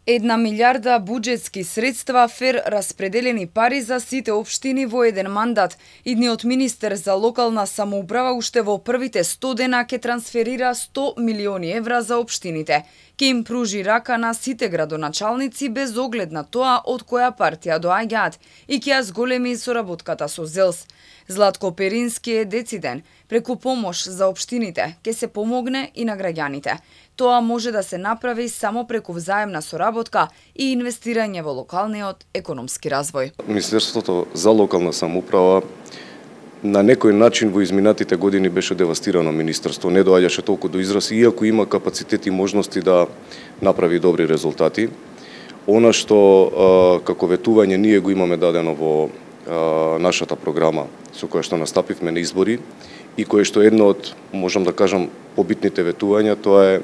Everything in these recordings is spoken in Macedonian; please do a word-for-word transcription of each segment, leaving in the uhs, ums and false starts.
Една милиарда буџетски средства, фер распределени пари за сите општини во еден мандат. Идниот министер за локална самоуправа уште во првите сто дена ќе трансферира сто милиони евра за општините. Ке им пружи рака на сите градоначалници без оглед на тоа од која партија доаѓаат и ќе ја зголеми соработката со ЗЕЛС. Златко Перински е дециден. Преку помош за општините ќе се помогне и на граѓаните. Тоа може да се направи само преку взаемна соработка и инвестирање во локалниот економски развој. Министерството за локална самоуправа на некој начин во изминатите години беше девастирано министерство, не доаѓаше толку до израз, иако има капацитет и можности да направи добри резултати. Она што како ветување ние го имаме дадено во нашата програма со која што настапивме на избори и кое што е едно од, можам да кажам, побитните ветувања, тоа е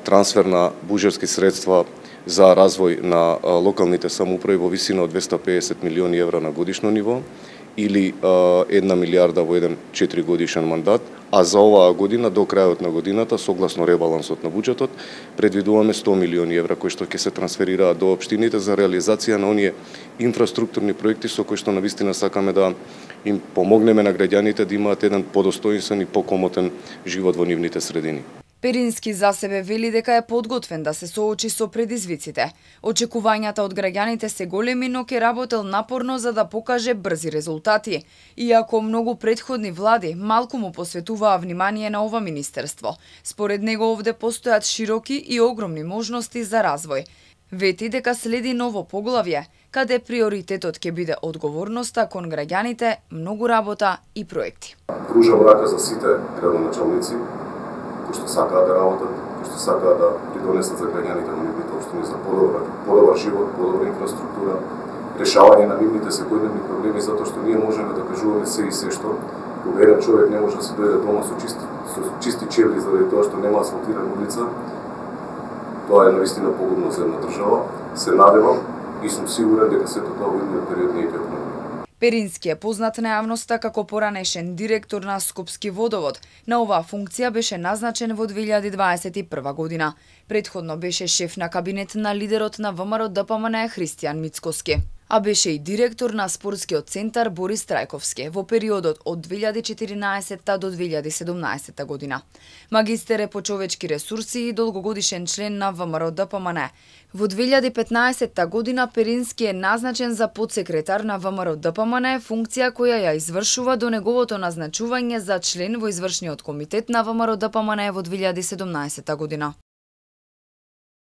трансфер на буџетски средства за развој на локалните самоуправи во висина од двесте и педесет милиони евра на годишно ниво или една милиарда во еден четиригодишен мандат, а за оваа година до крајот на годината согласно ребалансот на буџетот предвидуваме сто милиони евра кои што ќе се трансферираат до општините за реализација на оние инфраструктурни проекти со кои што навистина сакаме да им помогнеме на граѓаните да имаат еден подостоинствен и покомотен живот во нивните средини. Перински за себе вели дека е подготвен да се соочи со предизвиците. Очекувањата од граѓаните се големи, но ќе работел напорно за да покаже брзи резултати. Иако многу претходни влади малку му посветуваа внимание на ова министерство, според него овде постојат широки и огромни можности за развој. Вети дека следи ново поглавје, каде приоритетот ќе биде одговорноста кон граѓаните, многу работа и проекти. Кружам рака за сите градоначалници кои што сакаат да работат, кои што сакаат да придонесат за граѓаните во нивните општини за подобар, подобар живот, подобра инфраструктура, решавање на нивните секојдневни проблеми, затоа што ние можеме да кажуваме се и се што, кога еден човек не може да се дојде дома со чисти, со чисти чевли заради тоа што нема асфалтирана улица, тоа е навистина погубно за една држава. Се надевам и сум сигурен дека сето тоа во идниот период не ќе промени. Перински е познат на јавноста како поранешен директор на Скопски водовод. На оваа функција беше назначен во две илјади дваесет и прва година. Предходно беше шеф на кабинет на лидерот на ВМРО Д П М Н Христијан Мицкоски, а беше и директор на спортскиот центар Борис Трајковски во периодот од две илјади четиринаесетта до две илјади седумнаесетта година. Магистер е по човечки ресурси и долгогодишен член на ВМРО Д П М Н. Во две илјади петнаесетта година Перински е назначен за подсекретар на ВМРО Д П М Н, функција која ја извршува до неговото назначување за член во извршниот комитет на ВМРО Д П М Н во две илјади седумнаесетта година.